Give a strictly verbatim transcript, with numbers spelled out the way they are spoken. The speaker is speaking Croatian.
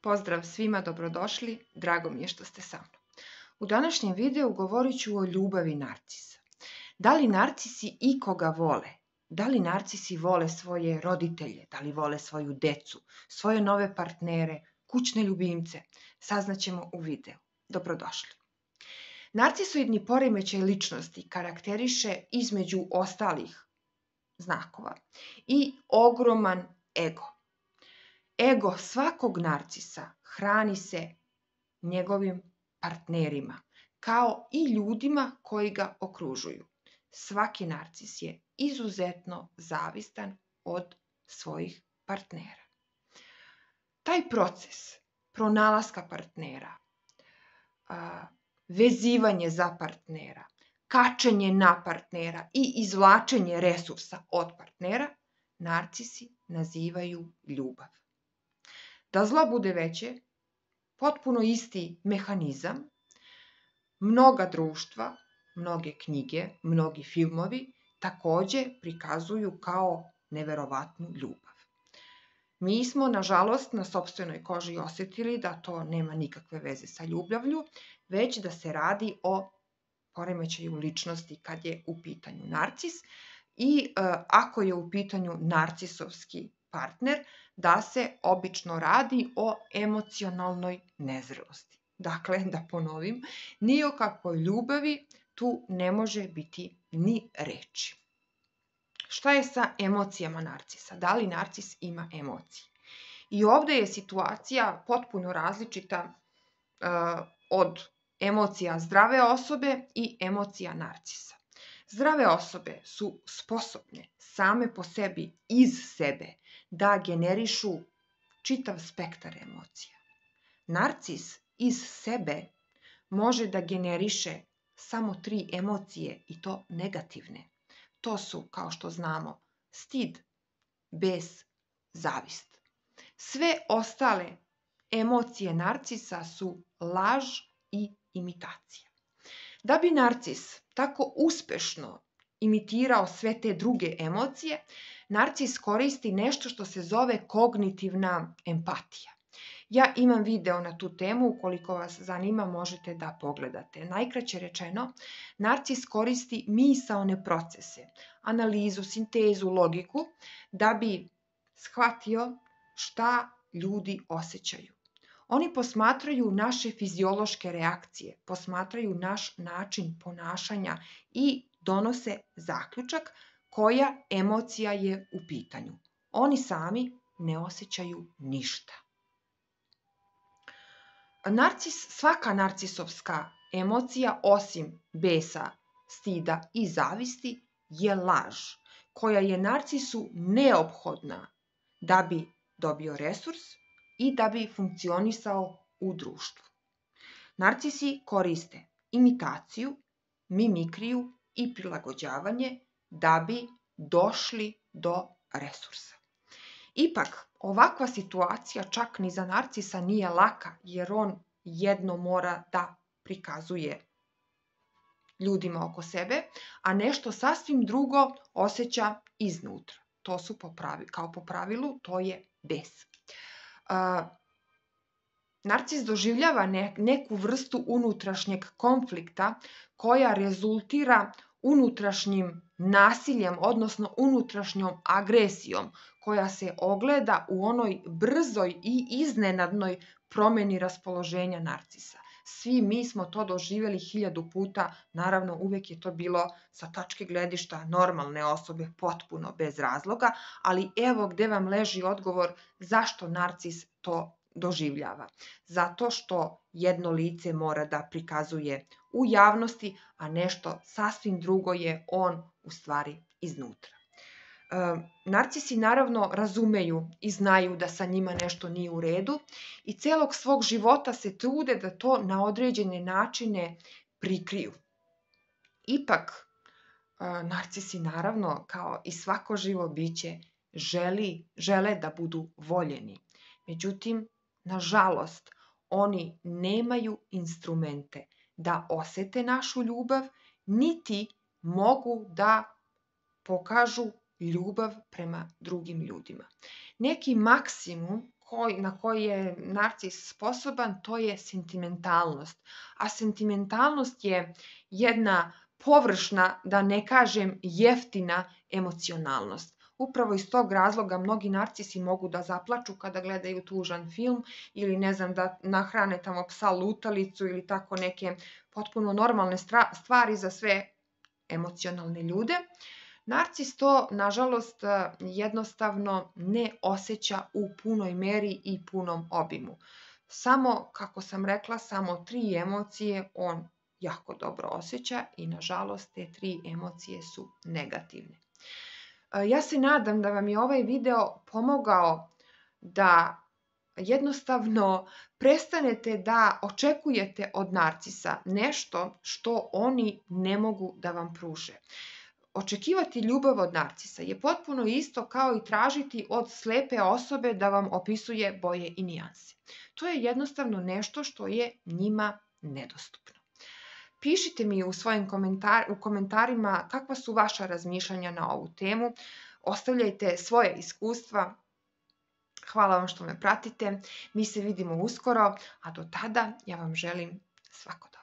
Pozdrav svima, dobrodošli, drago mi je što ste sa mnom. U današnjem videu govorit ću o ljubavi narcisa. Da li narcisi ikoga vole? Da li narcisi vole svoje roditelje? Da li vole svoju decu, svoje nove partnere, kućne ljubimce? Saznaćemo u videu. Dobrodošli. Narcisoidni poremećaj ličnosti karakteriše između ostalih znakova i ogroman ego. Ego svakog narcisa hrani se njegovim partnerima, kao i ljudima koji ga okružuju. Svaki narcis je izuzetno zavistan od svojih partnera. Taj proces pronalaska partnera, vezivanje za partnera, kačenje na partnera i izvlačenje resursa od partnera, narcisi nazivaju ljubav. Da zlo bude veće, potpuno isti mehanizam, mnoga društva, mnoge knjige, mnogi filmovi također prikazuju kao neverovatnu ljubav. Mi smo, nažalost, na sopstvenoj koži osjetili da to nema nikakve veze sa ljubavlju, već da se radi o poremećaju ličnosti kad je u pitanju narcis i e, ako je u pitanju narcisovski partner, da se obično radi o emocionalnoj nezrelosti. Dakle, da ponovim, ni o kakvoj ljubavi tu ne može biti ni reči. Šta je sa emocijama narcisa? Da li narcis ima emocije? I ovdje je situacija potpuno različita uh, od emocija zdrave osobe i emocija narcisa. Zdrave osobe su sposobne same po sebi, iz sebe, da generišu čitav spektar emocija. Narcis iz sebe može da generiše samo tri emocije i to negativne. To su, kao što znamo, stid, bes, zavist. Sve ostale emocije narcisa su laž i imitacija. Da bi narcis tako uspešno imitirao sve te druge emocije, narcis koristi nešto što se zove kognitivna empatija. Ja imam video na tu temu, ukoliko vas zanima možete da pogledate. Najkraće rečeno, narcis koristi misaone procese, analizu, sintezu, logiku, da bi shvatio šta ljudi osjećaju. Oni posmatraju naše fiziološke reakcije, posmatraju naš način ponašanja i donose zaključak koja emocija je u pitanju. Oni sami ne osjećaju ništa. Narcis, svaka narcisovska emocija, osim besa, stida i zavisti, je laž, koja je narcisu neophodna da bi dobio resurs i da bi funkcionisao u društvu. Narcisi koriste imitaciju, mimikriju i prilagođavanje da bi došli do resursa. Ipak, ovakva situacija čak ni za narcisa nije laka, jer on jedno mora da prikazuje ljudima oko sebe, a nešto sasvim drugo osjeća iznutra. To su po pravi, kao po pravilu, to je bes. Uh, narcis doživljava ne, neku vrstu unutrašnjeg konflikta koja rezultira unutrašnjim nasiljem, odnosno unutrašnjom agresijom koja se ogleda u onoj brzoj i iznenadnoj promjeni raspoloženja narcisa. Svi mi smo to doživjeli hiljadu puta, naravno uvijek je to bilo sa tačke gledišta normalne osobe, potpuno bez razloga, ali evo gdje vam leži odgovor zašto narcis to doživljava. Zato što jedno lice mora da prikazuje u javnosti, a nešto sasvim drugo je on u stvari iznutra. E, narcisi naravno razumeju i znaju da sa njima nešto nije u redu i celog svog života se trude da to na određene načine prikriju. Ipak, e, narcisi naravno, kao i svako živo biće, želi, žele da budu voljeni. Međutim, nažalost, oni nemaju instrumente da osete našu ljubav, niti mogu da pokažu ljubav prema drugim ljudima. Neki maksimum koji, na koji je narcis sposoban, to je sentimentalnost. A sentimentalnost je jedna površna, da ne kažem jeftina emocionalnost. Upravo iz tog razloga mnogi narcisi mogu da zaplaču kada gledaju tužan film ili ne znam da nahrane tamo psa lutalicu ili tako neke potpuno normalne stvari za sve emocionalne ljude. Narcis to, nažalost, jednostavno ne osjeća u punoj meri i punom obimu. Samo, kako sam rekla, samo tri emocije on jako dobro osjeća i, nažalost, te tri emocije su negativne. Ja se nadam da vam je ovaj video pomogao da jednostavno prestanete da očekujete od narcisa nešto što oni ne mogu da vam pruže. Očekivati ljubav od narcisa je potpuno isto kao i tražiti od slepe osobe da vam opisuje boje i nijanse. To je jednostavno nešto što je njima nedostupno. Pišite mi u svojim komentar, u komentarima kakva su vaša razmišljanja na ovu temu. Ostavljajte svoje iskustva. Hvala vam što me pratite. Mi se vidimo uskoro, a do tada ja vam želim svako dobro.